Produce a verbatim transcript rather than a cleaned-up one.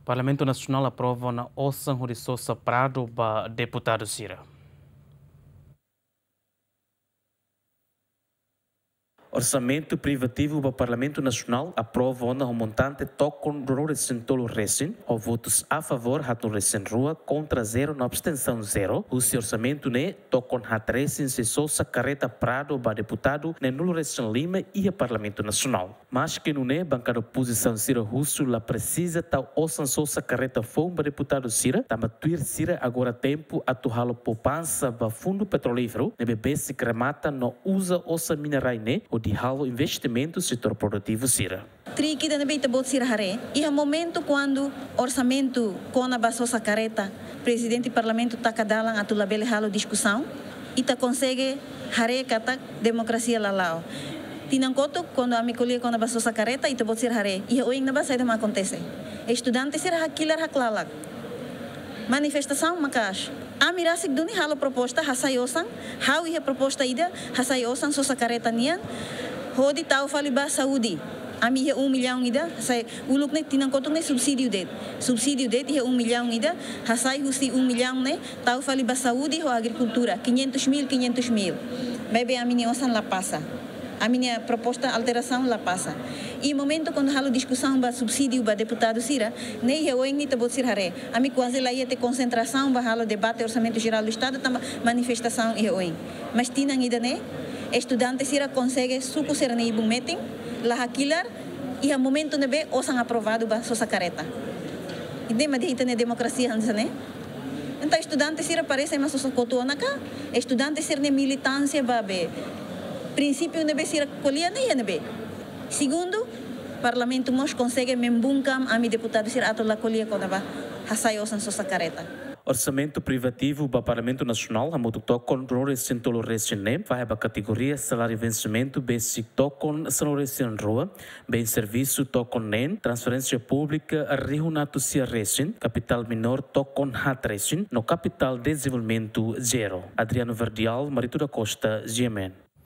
Parlamentu Nasionál aprova ona osan hodi sosa pradu ba deputadu sira. Orsamentu privativu ba Parlamentu Nasionál aprova ona ho montante tokon ruanulu-resin-tolu resin, ho votus a favór haatnulu-resin-rua, kontra zero no abstensaun zero, husi orsamentu ne'e tokon haat resin sei sosa karreta pradu ba deputadu neen-nulu-resin-lima iha Parlamentu Nasionál. Maski nune'e, bankada opozisaun sira husu la presiza tau osan sosa karreta foun ba deputadu sira, tanba tuir sira agora tempu atu halo poupansa ba fundu petrolíferu ne'ebé besik remata no uza osan mina-rai ne'e hodi halo investimentu setór produtivu sira. Trik ida ne'ebé ita-boot sira haree, iha momentu kuandu orsamentu kona-ba sosa karreta, prezidente parlamentu taka dalan atu labele halo diskusaun, ita konsege haree katak demokrasia la la'o. Tinan kotuk, kuandu ami ko'alia kona-ba sosa karreta, ita-boot sira haree, iha oin ne'ebá saida mak akontese. Estudante sira hakilar haklalak. Manifestasaun maka'as. Ami rasik duni halo proposta, hasai osan, ha'u iha proposta ida, hasai osan sosa karreta nian, hodi tau fali ba saúde. Ami iha um milhão ida, hasai uluk ne'e, tinan kotuk ne'e subsídiu de'it. Subsídiu de'it iha um milhão ida, hasai husi um milhão ne'e, tau fali ba saúde ho agrikultura, quinhentos mil, quinhentos mil. Maibé ami-nia osan la pasa. Ami-nia proposta alterasaun la pasa. I momentu kuandu halo diskusaun ba subsídiu ba deputadu sira, ne'e iha oin ne'e ita-boot sira haree. Ami kuaze la iha tiha konsentrasaun ba halo debate Orsamentu Jerál do Estadu, tanba manifestasaun iha oin. Mas tinan ida-ne'e, estudante sira konsege suku sira-nia ibun metin, la hakilar, iha momentu ne'ebé osan aprovadu ba sosa karreta. Ida-ne'e mak dehan ita-nia demokrasia hanesan ne'e. Entaun estudante sira parese ema sosa kotu ona ka, estudante sira-nia militánsia ba be, prinsípiu ne'ebé sira ko'alia ne'e iha ne'ebé. Segundu, parlamentu mós konsege membungkam ami deputadu sira atu la ko'alia kona-ba hasai osan sosa karreta. Orsamentu privativu ba Parlamentu Nasionál hamutuk tokon ruanulu-resin-tolu resin ne'e fahe ba kategoria saláriu vensimentu besik tokon sanulu-resin-rua, bens servisu tokon neen, transferénsia públika rihun atus sia resin, kapitál minór tokon haat resin, no kapitál dezenvolvimentu zero. Adriano Verdial, Marito da Costa, G M N.